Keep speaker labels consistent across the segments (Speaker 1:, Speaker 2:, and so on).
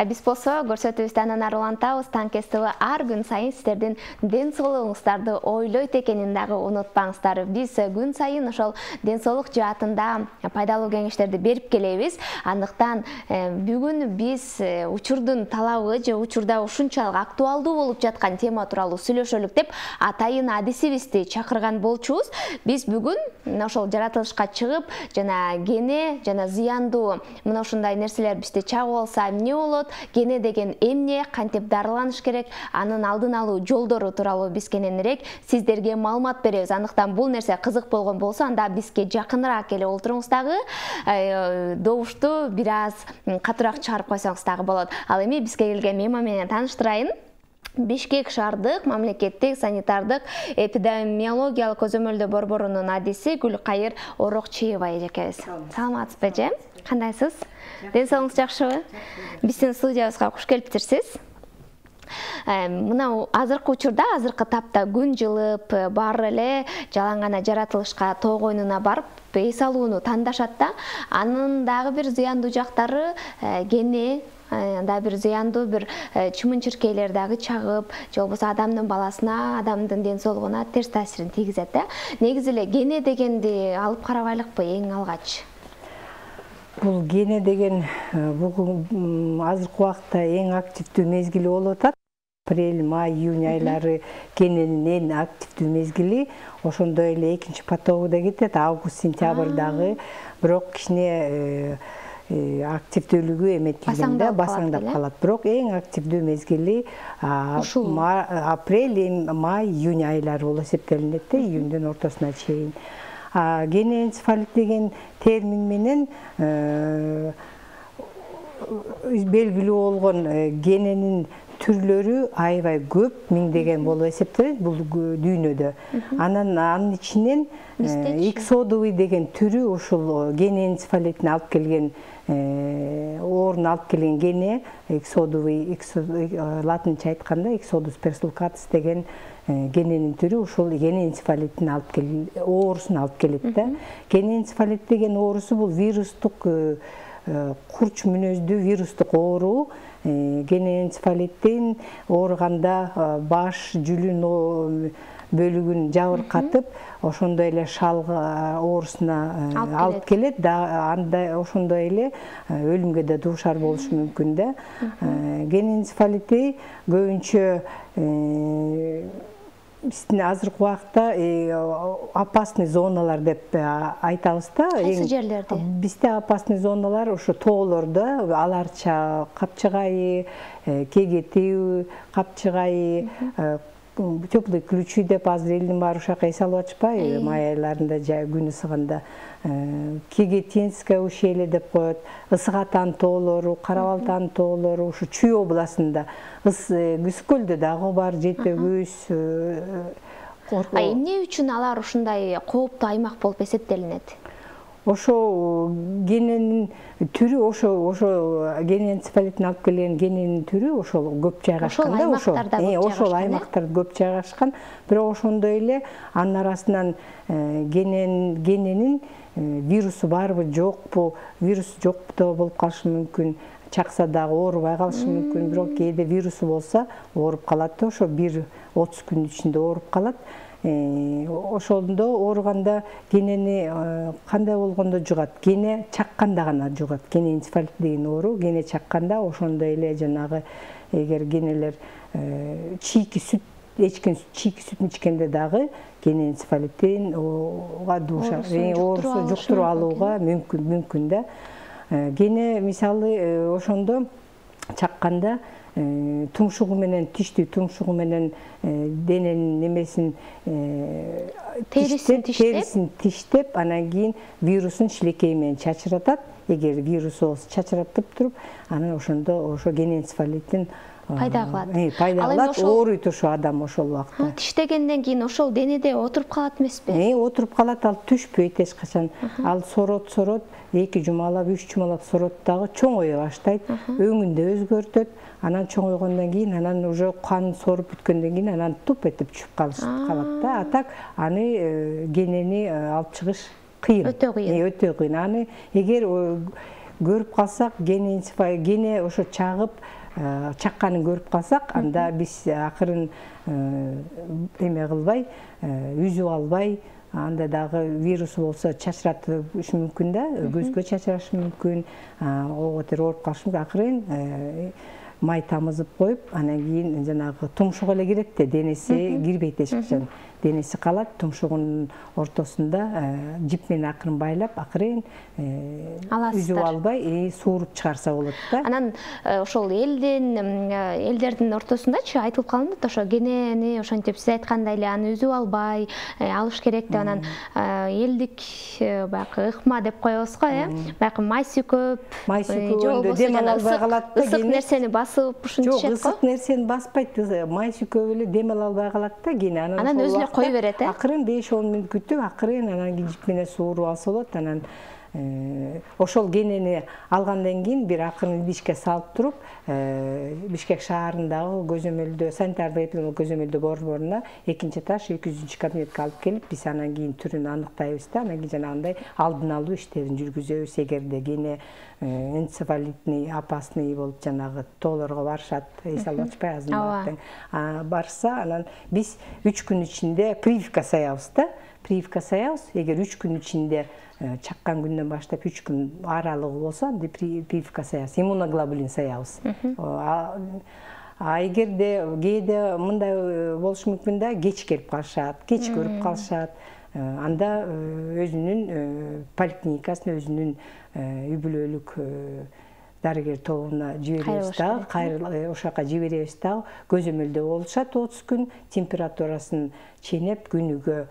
Speaker 1: Биз болсо көрсөтүүбүздү анан ары улантабыз. Танкес ТВ ар күн сайын сиздердин ден соолугуңуздарды ойлойт экенин дагы унутпаңыздар. Биз күн сайын ошол ден соолук жаатында пайдалуу кеңештерди берип келебиз. Андыктан бүгүн биз учурдун талабы же учурда ушунчалык актуалдуу болуп жаткан тема тууралуу сүйлөшөлүк деп атайын адисибизди чакырган болчубуз. Биз бүгүн ошол жаратылышка чыгып, жана гене жана зыяндуу мына ушундай нерселер бизди чагып алса эмне болот? Гене деген эмне, кантип дарыланыш керек, анын алдын алуу жолдору тууралуу биз кененирээк сиздерге маалымат беребиз. Андыктан бул нерсе кызык болгон болсо, анда бизге жакыныраак келип олтуруңуз дагы, добушту бир аз катуураак чыгарып койсоңуз дагы болот. Ал эми бизге келген мейман менен тааныштырайын. Бишкек шаардык мамлекеттик санитардык эпидемиологиялык көзөмөлдөө борборунун адиси Гүлкайыр Орокчиева эжекебиз. Саламатсызбы эже? Кандайсыз? Ден соолугуңуз жакшыбы? Биздин студиябызга куш келиптирсиз. Мына азыркы учурда, азыркы тапта күн жылып, баары эле жалаң гана жаратылышка тоо койнуна барып, эс алууну тандашат да. Анын дагы бир зыяндуу жактары гене, да бир зыяндуу бир чымын-чиркейлер дагы чагып, же болбосо адамдын баласына, адамдын ден соолугуна терс таасирин тийгизет да. Негизи эле гене дегенди алып карабайлыкпы эң алгач?
Speaker 2: Бул гене деген бүгүн азыркы убакта эң активдүү мезгили болуп атат. Апрель, май, июнь айлары гененин эң активдүү мезгили. Ошондой эле экинчи потогу да кетет, август, сентябрдагы. Бирок кичине активдүүлүгү эметилгенде басаңдап калат. Бирок эң активдүү мезгили апрель, май, июнь айлары болуп эсептелинет да, июндун ортосуна чейин. Генеэнцефалит деген термин менен белгилүү болгон гененин түрлөрү аябай көп, миңдеген болуп эсептелет бул дүйнөдө. Анын ичинен иксодовый деген түрү ушул генеэнцефалитин алып келген, оорун алып келген гене, иксодовый, латынча айтканда иксодус персулкатус деген гененин түрү ушул генеэнцефалиттин оорусун алып келет да. Генеэнцефалит деген оорусу бул вирустук курч мүнөздүү вирустук оору. Генеэнцефалиттин ооруганда баш, жүлүн бөлүгүн жабыркатып, ошондой эле шал оорусуна алып келет. Анда ошондой эле өлүмгө да дуушар болушу мүмкүн да. Генеэнцефалити көбүнчө биздин азыркы убакта опасный зоналар деп айтабыз да.
Speaker 1: Кайсы жерлерде?
Speaker 2: Бизде опасный зоналар ошо тоолордо, Аларча, Капчыгайы, Кегетүү, Капчыгайы, Теплый ключи деп азыр элдин баары ушака эс алып атышпайбы? Май айларында күн ысыганда Кегетинское ущелье деп коет, Ысык-Атан тоолору, Кара-Балтан тоолору, ушу Чүй областында, Күскөлдө дагы бар, Жетөгүз.
Speaker 1: Эмне үчүн алар ушундай кооптуу аймак болуп эсептелинет?
Speaker 2: Ошо гененин түрү, ошо генеэнцефалиттин алып келген гененин түрү ошол көп жайгашкан да, ошол аймактарда көп жайгашкан. Бирок ошондой эле анын арасынан гененин вирусу барбы, жокпу, вирус жокпу болуп калышы мүмкүн. Чакса дагы оорубай калышы мүмкүн, бирок кээде вирусу болсо ооруп калат да, ошо 1-30 күн ичинде ооруп калат. Ошондо ооруганда генени кандай болгондо жугат? Гене чакканда гана жугат. Генеэнцефалит деген оору гене чакканда, ошондой эле жанагы эгер генелер чийки сүт, эчкен чийки сүтүн ичкенде дагы генеэнцефалиттин дуушар, оорусу жуктуруп алууга мүмкүн да. Гене мисалы ошондо чакканда тумшугу менен, тиштүү тумшугу менен дененин немесин терисин тиштеп, анан кийин вирусун шилекей менен чачыратат. Эгер вирус болсо чачыратып туруп, анан ошондо ошо генеэнцефалиттин
Speaker 1: пайда кылат.
Speaker 2: Пайда кылат, ооруйт ошо адам ошол убакта.
Speaker 1: Тиштегенден кийин ошол денеде отуруп калат эмеспи?
Speaker 2: Отуруп калат, ал түшпөйт эч качан. Ал сорот, 2 жумалап, 3 жумалап сорот дагы чоңое баштайт, өңүндө өзгөртөт. Анан чоңойгондон кийин, анан уже кан соруп бүткөндөн кийин анан туп этип түшүп калат да. А так аны генени алып чыгыш кыйын.
Speaker 1: Өтө кыйын.
Speaker 2: Аны эгер көрүп калсак, кене ошо чакканын көрүп калсак, анда биз акырын эме кылбай, үзүп албай, анда дагы вирус болсо чачыратышы мүмкүн да, көзгө чачырашы мүмкүн, ого тер ооруп калышы мүмкүн. Акырын май тамызып коюп, анан кийин жанагы тумшук эле кирет да, денеси кирбейт эч качан. Денеси калат, тумшугунун ортосунда жип менен акырын байлап, акырын үзүп албай, сууруп чыгарса болот да.
Speaker 1: Анан ошол элдердин ортосундачы айтылып калынат, ошо кенени ошентип сиз айткандай эле аны үзүп албай алыш керек деп. Анан элдик баягы ыкма деп коебуз го, баягы майсы көп,
Speaker 2: жок дем ала албай калат да,
Speaker 1: ысык нерсени басып ушинтишет го.
Speaker 2: Жок, ысык нерсени баспайт, майсы көп эле дем ала албай калат да, кийин
Speaker 1: анан өзү кой берет,
Speaker 2: акырын 5-10 мүнөт күтүп, акырын анан жип менен сууруп алса болот. Анан ошол кенени алгандан кийин бир акырын идишке салып туруп, Бишкек шаарындагы көзөмөлдөө, санитардык эпидемиологиялык көзөмөлдөө борборуна 2-этаж 200 кабинетке алып келип, биз анан кийин түрүн аныктайбыз да, анан кийин жанагындай алдын алуу иштерин жүргүзөбүз. Эгерде кене энцефалитный, опасный болуп жанагы тоолорго барышат, эс алып ачпай азыр барса, анан биз 3 күн ичинде прививка саябыз да. Прививка саябыз. Эгер 3 күн ичинде чаккан күндөн баштап 3 күн аралыгы болсо, анда прививка саябыз, иммуноглобулин саябыз. Эгерде кээде мындай болушу мүмкүн да, кеч келип калышат, кеч көрүп калышат. Анда өзүнүн поликлиникасына, өзүнүн үй бүлөлүк дарыгер тобуна жиберебиз дагы, ошол жака жиберебиз дагы, көзөмөлдөө болушат 30 күн, температурасын ченеп, күнүгө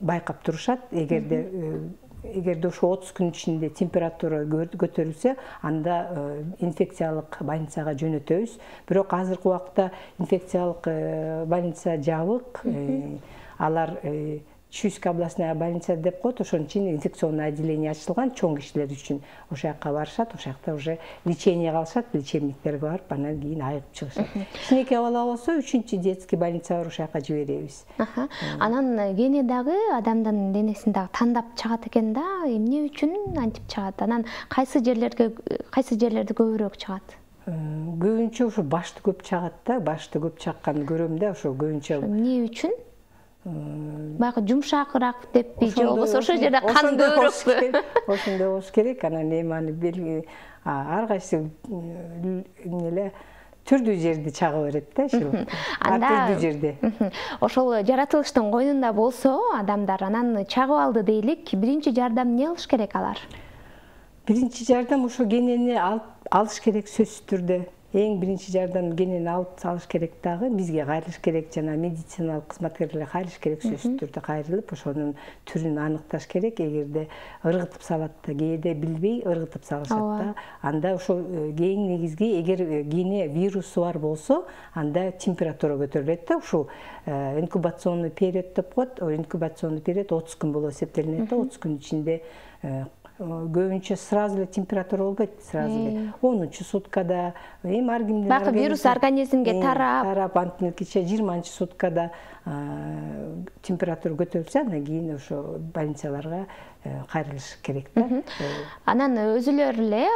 Speaker 2: байкап турушат. Эгерде ошо 30 күн ичинде температура көтөрүлсө, анда инфекциялык больницага жөнөтөбүз. Бирок азыркы убакта инфекциялык больница жабык. Алар Чуйская областная больница деп коет, ошон үчүн инфекционный отделение ачылган чоң кишилер үчүн. Ошол жака барышат, ошол жакта уже лечение кылышат, лечебниктерге барып, анан кийин айыгып чыгышат. Кичинекей бала болсо 3-чү детский больница бар, ошол жака жиберебиз.
Speaker 1: Анан кене дагы адамдын денесин дагы тандап чыгат экен да, эмне үчүн антип чыгат? Анан кайсы жерлерде көбүрөөк чыгат?
Speaker 2: Көбүнчө ошо башты көп чыгат да, башты көп чакканды көрөм да, ошо көбүнчө.
Speaker 1: Эмне үчүн? Баягы жумшакыраак деппи, же болбосо ошол жерде кан көбүрөөкпү?
Speaker 2: Ошондой болуш керек. Анан эми аны ар кайсы эле түрдүү жерди чага берет да, түрдүү жерде.
Speaker 1: Ошол жаратылыштын койнунда болсо адамдар, анан чагып алды дейлик, биринчи жардам эмне кылыш керек алар?
Speaker 2: Биринчи жардам ошо кенени алыш керек, сөзсүз түрдө. Эң биринчи жардам кенени алып салыш керек дагы, бизге кайрылыш керек, жана медициналык кызматкерлерге кайрылыш керек, сөзсүз түрдө кайрылып, ошонун түрүн аныкташ керек. Эгерде ыргытып салат да, кээде билбей ыргытып салышат да. Анда ошол эң негизги, эгер кене вирусу бар болсо, анда температура көтөрүлөт да, ушул инкубационный период деп коет. Инкубационный период 30 күн болуп эсептелинет да, 30 күн ичинде көбүнчө сразу эле температура болбойт, сразу эле 10-чу суткада, эми ар кимдин
Speaker 1: баягы вирус организмге тарап,
Speaker 2: антинкиче 20-чы суткада температура көтөрүлсө, андан кийин ошо больницаларга кайрылыш керек да.
Speaker 1: Анан өзүлөр эле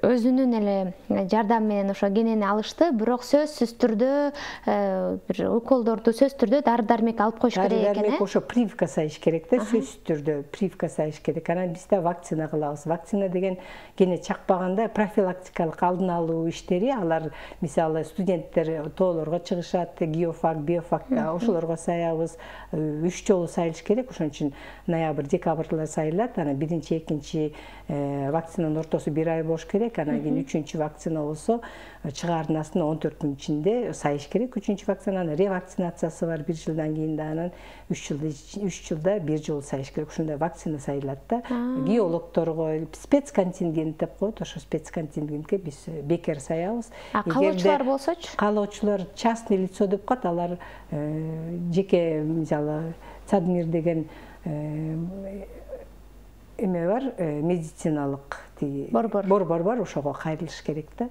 Speaker 1: өзүнүн эле жардамы менен ошо кенени алышты, бирок сөзсүз түрдө бир уколдорду сөзсүз түрдө дары-дармек алып коюш керек экен.
Speaker 2: Дары-дармек ошо прививка сайыш керек да, сөзсүз түрдө прививка сайыш керек. Анан биз да вакцина кылабыз. Вакцина деген кене чакпаганда профилактикалык алдын алуу иштери, алар мисалы студенттер тоолорго чыгышат, геофак, биофак, ошолорго саябыз. 3 жолу сайылыш керек. Ошон үчүн ноябрь, декабрда сайылат. Анан биринчи, экинчи вакцинанын ортосу 1 ай болуш керек. Анан кийин 3-чү вакцина болсо чыгарынасына 14 күн ичинде сайыш керек. 3-чү вакцинанын ревакцинациясы бар 1 жылдан кийин да, анан 3 жылда 1 жолу сайыш керек. Ушундай вакцина сайылат да. Геологторго спецконтингент деп коет, ошо спецконтингентке биз бекер саябыз.
Speaker 1: Каалоочулар болсочу?
Speaker 2: Каалоочулар частный лицо деп коет, алар жеке, мисалы, Цадмир деген эме бар, медициналык борбор бар, ошого кайрылыш керек да.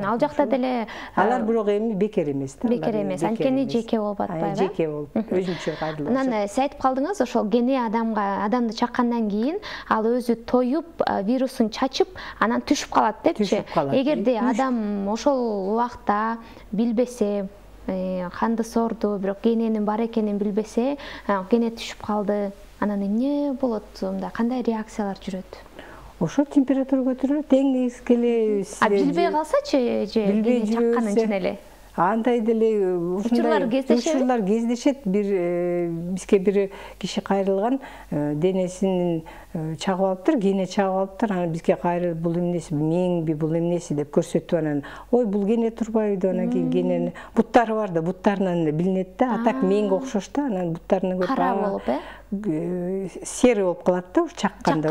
Speaker 1: Ал жакта деле
Speaker 2: алар бирок эми бекер эмес да.
Speaker 1: Бекер эмес, анткени жеке болуп атпайбы.
Speaker 2: Жеке болуп, өзүнчө кайрылышат.
Speaker 1: Анан сиз айтып калдыңыз, ошол гене адамды чаккандан кийин ал өзү тоюп, вирусун чачып, анан түшүп калат депчи. Эгерде адам ошол убакта билбесе, канды сорду, бирок гененин бар экенин билбесе, гене түшүп калды, анан эмне болот? Мындай кандай реакциялар жүрөт?
Speaker 2: Ошо температура көтөрүлөт, эң эскеле.
Speaker 1: Билбей калсачы, же гене чаккан үчүн эле?
Speaker 2: Андай деле
Speaker 1: учурлар
Speaker 2: кездешет. Бизге бир киши кайрылган, денесин чагып алыптыр, гене чагып алыптыр. Анан бизге кайрылып, бул эмнеси, меңби, бул эмнеси деп көрсөтүп, анан ой, бул гене турбайбы, анан кийин генени буттары бар да, буттарынан билинет да, атак меңге окшош да, анан буттарынан көрүп
Speaker 1: кара болуп,
Speaker 2: сері болуп калат да, чакканда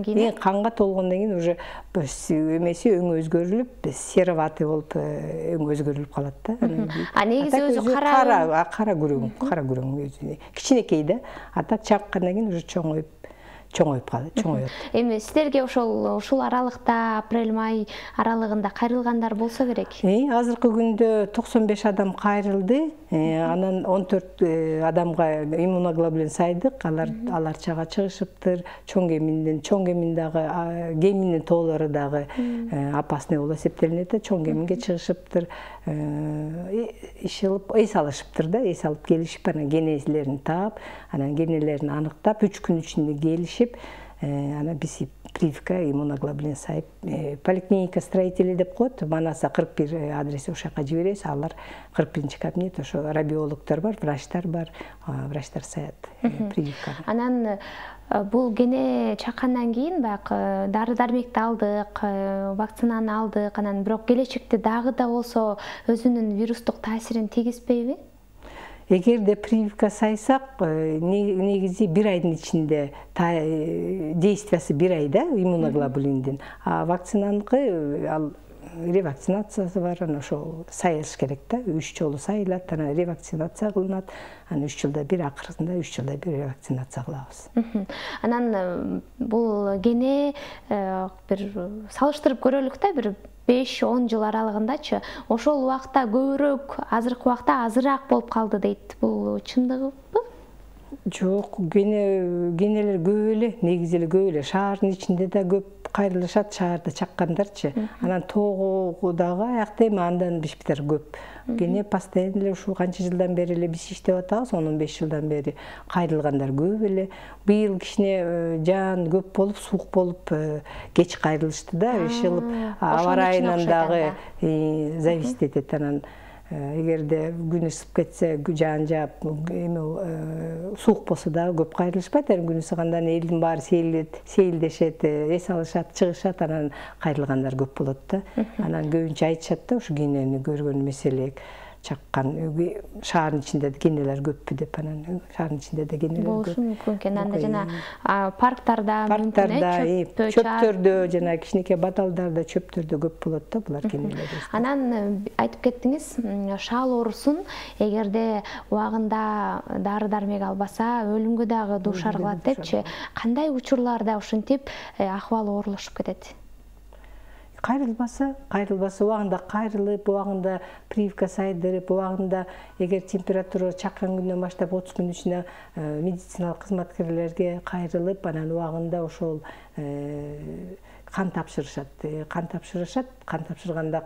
Speaker 2: кийин канга толгондон кийин уже эмеси өңү өзгөрүлүп, сероватый болуп өңү өзгөрүлүп калат да.
Speaker 1: А негизи өзү
Speaker 2: кара күрөң өзү кичинекей да. Атак чаккандан кийин уже чоңоюп калат, чоңоет.
Speaker 1: Эми сиздерге ушул аралыкта, апрель-май аралыгында кайрылгандар болсо керек?
Speaker 2: Азыркы күндө 95 адам кайрылды. Анан 14 адамга иммуноглобулин сайдык. Алар чага чыгышыптыр. Чоң гемин дагы, геминдин тоолору дагы опасный болуп эсептелинет да. Чоң геминге чыгышыптыр. Эс алышыптыр да, эс алып келишип, анан генелерин таап, анан генелерин аныктап, 3 күн ичинде келишип, анан биз прививка иммуноглобулин сайып, поликлиника строители деп коет, Манаса 41 адреси ошака жиберебиз, алар 41 кабинет, ошо радиологдор бар, врачтар саят прививканы.
Speaker 1: Анан бул гене чаккандан кийин баягы дары-дармекти алдык, вакцинаны алдык, анан бирок келечекте дагы да болсо өзүнүн вирустук таасирин тийгизбейби?
Speaker 2: Эгерде прививка сайсак, негизи 1 айдын ичинде действиясы 1 айда иммуноглобулиндин. А вакцинаныкы ал ревакцинациясы бар, анан ошо сайыш керек да, 3 жолу сайылат, анан ревакцинация кылынат, анан 3 жылда бир, акырында 3 жылда бир ревакцинация кылабыз.
Speaker 1: Анан бул гене бир салыштырып көрөлүк да, бир 5-10 жыл аралыгындачы, ошол убакта көбүрөөк, азыркы убакта азыраак болуп калды дейт. Бул чындыгыбы?
Speaker 2: Жок, генелер көп эле, негизи эле көп эле. Шаардын ичинде да көп кайрылышат, шаарда чаккандарчы. Анан тоого дагы аякта эми андан бишптер көп. Гене постоянно эле ушул канча жылдан бери эле биз иштеп атабыз, 10-15 жылдан бери кайрылгандар көп эле. Быйыл кичине жаан көп болуп, суук болуп, кеч кайрылышты да, ишылып, аба ырайынан дагы зависит этет. Анан эгерде күн ысып кетсе, жаан жаап, суук болсо дагы көп кайрылышпайт. Күн ысыгандан элдин баары сейилдешет, эс алышат, чыгышат, анан кайрылгандар көп болот да. Анан көбүнчө айтышат да, ушу генени көргөн меселек чаккан, шаардын ичинде генелер көппү деп, анан шаардын ичинде да генелер көп.
Speaker 1: Болушу мүмкүн экен. Анда жана парктарда,
Speaker 2: чөптөрдө, жана кичинекей баталдарда, чөптөрдө көп болот да булар генелер.
Speaker 1: Анан айтып кеттиңиз, шаал оорусун эгерде убагында дары-дармек албаса, өлүмгө дагы дуушар кылат депчи. Кандай учурларда ушинтип акыбалы оорлошуп кетет?
Speaker 2: Кайрылбаса, убагында кайрылып, убагында прививка сайдырып, убагында эгер температура чаккан күндөн баштап 30 күн ичинде медициналык кызматкерлерге кайрылып, анан убагында ошол кан тапшырышат. Кан тапшырганда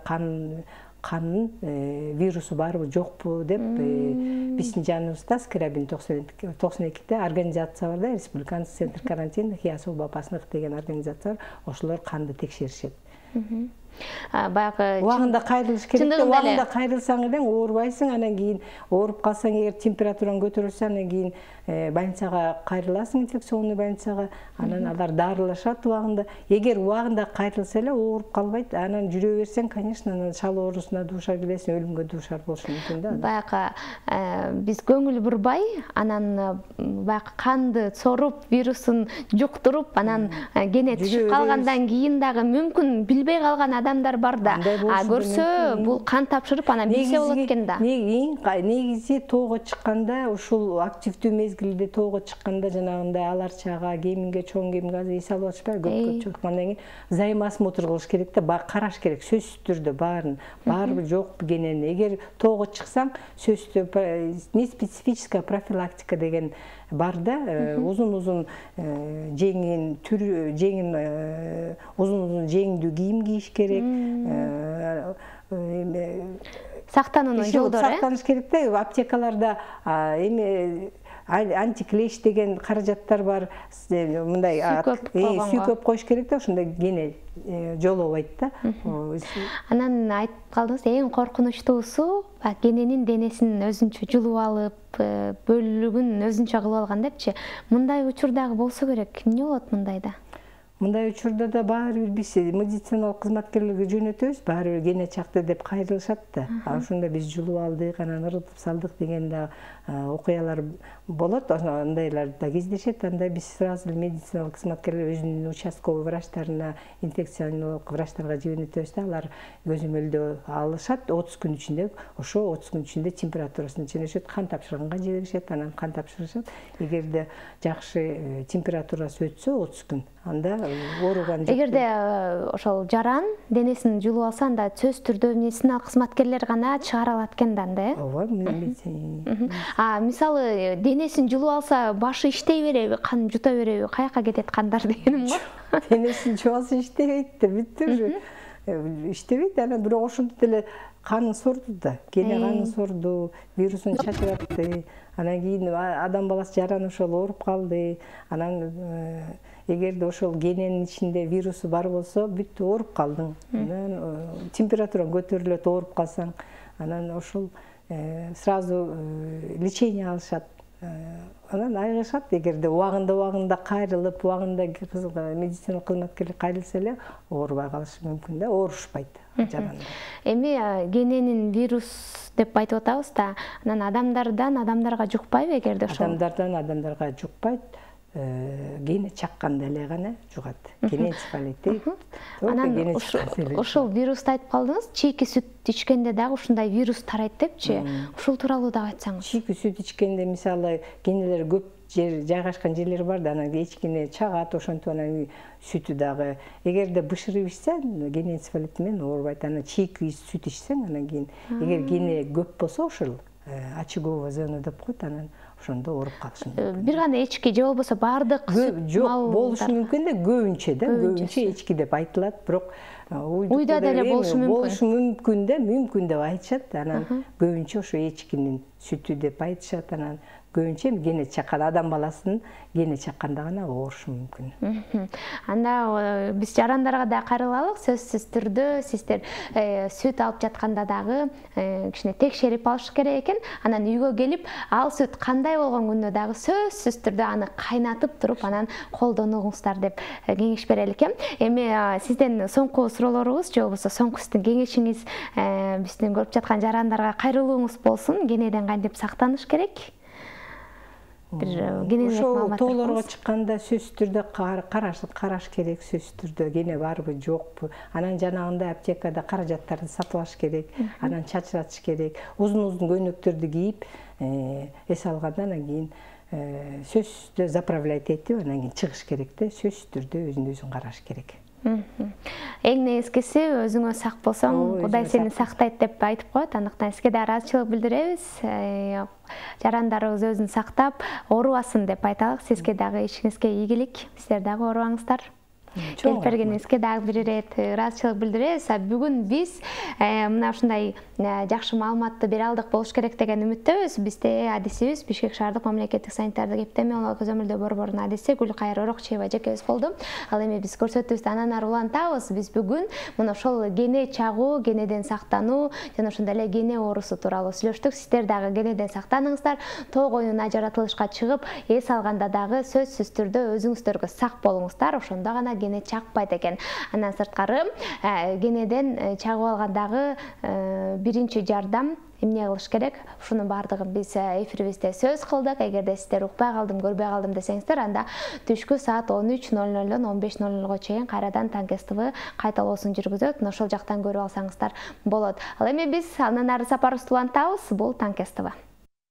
Speaker 2: канын вирусу барбы, жокпу деп биздин жаныбызда Скрябин 92-де организация бар да, Республиканский центр карантина и особо опасных деген организация бар, ошолор канды текшеришет. Убагында кайрылыш керек. Убагында кайрылсаң эле оорубайсың, анан кийин ооруп калсаң, эгер температураң көтөрүлсө, анан кийин больницага кайрыласың, инфекционный больницага, анан алар дарылашат убагында. Эгер убагында кайрылса эле ооруп калбайт, анан жүрө берсең, конечно, анан шал оорусуна дуушар келесиң, өлүмгө дуушар болушу мүмкүн да.
Speaker 1: Баягы биз көңүл бурбай, анан баягы канды соруп, вирусун жуктуруп, анан гене түшүп калгандан кийин дагы мүмкүн билбей калган адамдар бар да. Көрсө бул кан тапшырып анан билсе болот экен да.
Speaker 2: Негизи тоого чыкканда, ушул активдүү мезгилде тоого чыкканда жанагындай алар чага, кеминге, чоң кеминге азыр эс алып атышпайбы, көпкө чыккандан кийин зайым осмотр кылыш керек да, караш керек, сөзсүз түрдө баарын, барбы жокпу кенени. Эгер тоого чыксаң, сөзсүз түрдө неспецифическая профилактика деген бар да, узун-узун жеңин узун-узун жеңдүү кийим кийиш керек.
Speaker 1: Сактануунун жолдору.
Speaker 2: Сактаныш керек да, аптекаларда антиклеш деген каражаттар бар, мындай сүйкөп коюш керек да, ошондой кене жолобойт да.
Speaker 1: Анан айтып калдыңыз, эң коркунучтуусу кененин денесин өзүнчө жулуп алып, бөлүгүн өзүнчө кылып алган депчи. Мындай учур дагы болсо керек. Эмне болот мындайда?
Speaker 2: Мындай учурда да баары бир биз медициналык кызматкерлерге жөнөтөбүз, баары бир кене чакты деп кайрылышат да. Ошондо биз жулуп алдык, анан ыргытып салдык деген да окуялар болот. Андайлар да кездешет. Анда биз сразу медициналык кызматкерлер өзүнүн участковый врачтарына, инфекционолог врачтарга жибернетебиз да, алар көзөмөлдөө алышат. 30 күн ичинде, ошо 30 күн ичинде температурасын ченешет, кан тапшырганга жиберишет, анан кан тапшырышат. Эгерде жакшы температурасы өтсө 30 күн, анда ооруган жок.
Speaker 1: Эгерде ошол жаран денесин жулуп алса, анда сөзсүз түрдө медициналык кызматкерлер гана чыгара алат экен да, анда,
Speaker 2: Ооба,
Speaker 1: мисалы денесин жулуп алса, башы иштей береби, кан жута береби, каяка кетет кандар дегеним го.
Speaker 2: Денесин жулуп алса иштебейт да, бүттү. Иштебейт, анан бирок ошондо деле канын сорду да, кене канын сорду, вирусун чачыратты. Анан кийин адам баласы жаран ошол ооруп калды. Анан эгерде ошол кененин ичинде вирусу бар болсо, бүттү, ооруп калдың. Анан температураң көтөрүлөт, ооруп калсаң, анан ошол сразу лечение алышат. Анан айыгышат. Эгерде убагында кайрылып, убагында медициналык кызматкерлер кайрылса эле оорубай калышы мүмкүн да, оорушпайт жаранда.
Speaker 1: Эми кененин вирус деп айтып атабыз да, анан адамдардан адамдарга жукпайбы эгерде ошол?
Speaker 2: Адамдардан адамдарга жукпайт. Кене чакканда эле гана жугат. Кене энцефалит.
Speaker 1: Анан ошол вирусту айтып калдыңыз, чийки сүт ичкенде дагы ушундай вирус тарайт депчи. Ушул тууралуу дагы айтсаңыз.
Speaker 2: Чийки сүт ичкенде мисалы кенелер көп жайгашкан жерлер бар да, анан эчкине чагат, ошентип анан сүтү дагы. Эгерде бышырып ичсе, кене энцефалити менен оорубайт. Анан чийки сүт ичсең, анан кийин эгер кене көп болсо, ошол очаговая зона деп коет, анан ошондо ооруп калышы мүмкүн.
Speaker 1: Бир гана эчки же болбосо баардык
Speaker 2: жок болушу мүмкүн да, көбүнчө да, көбүнчө эчки деп айтылат, бирок
Speaker 1: уйда деле болушу
Speaker 2: мүмкүн да, мүмкүн деп айтышат. Анан көбүнчө ошо эчкинин сүтү деп айтышат. Анан көбүнчө кене чаккан адам баласынын кене чакканда гана оорушу мүмкүн.
Speaker 1: Анда биз жарандарга да кайрылалык. Сөзсүз түрдө сиздер сүт алып жатканда дагы кичине текшерип алыш керек экен. Анан үйгө келип, ал сүт кандай болгон күндө дагы сөзсүз түрдө аны кайнатып туруп, анан колдонуңуздар деп кеңеш берели экен. Эми сизден соңку суроолорубуз же болбосо соңку сиздин кеңешиңиз биздин көрүп жаткан жарандарга кайрылууңуз болсун. Кенеден кантип сактаныш керек?
Speaker 2: Ошол тоолорго чыкканда сөзсүз түрдө караш керек, сөзсүз түрдө кене барбы, жокпу. Анан жанагындай аптекада каражаттарды сатып алыш керек, анан чачыратыш керек. Узун-узун көйнөктөрдү кийип, эс алгандан кийин сөзсүз түрдө заправлять этип, анан кийин чыгыш керек да, сөзсүз түрдө өзүн караш керек.
Speaker 1: Эң негизгиси өзүңө сак болсоң, Кудай сени сактайт деп айтып коет. Андыктан сизге да ыраазычылык билдиребиз. Жарандарыбыз өзүн сактап, оорубасын деп айталык. Сизге дагы ишиңизге ийгилик. Сиздер дагы оорубаңыздар. Келип бергениңизге дагы бир ирет ыраазычылык билдиребиз. Бүгүн биз мына ушундай жакшы маалыматты бере алдык болуш керек деген үмүттөбүз. Бизде адисибиз Бишкек шаардык мамлекеттик санитардык эпидемиологиялык көзөмөлдөө борборунун адиси Гүлкайыр Орокчиева жекебиз болду. Ал эми биз көрсөтүүбүздү анан ары улантабыз. Биз бүгүн мына ошол кене чагуу, кенеден сактануу жана ошондой эле кене оорусу тууралуу сүйлөштүк. Сиздер дагы кенеден сактаныңыздар. Тоого оюна жаратылышка чыгып, эс алганда дагы сөзсүз түрдө өзүңүздөргө сак болуңуздар. Ошондо гана кене чакпайт экен. Андан сырткары кенеден чагып алгандагы биринчи жардам эмне кылыш керек? Ушунун баардыгын биз эфирибизде сөз кылдык. Эгерде сиздер укпай калдым, көрбөй калдым десеңиздер, анда түшкү саат 13:00 15:00 чейин кайрадан Танкес ТВ кайталоосун жүргүзөт. Ошол жактан көрүп алсаңыздар болот. Ал эми биз андан ары сапарыбызды улантабыз. Бул Танкес ТВ.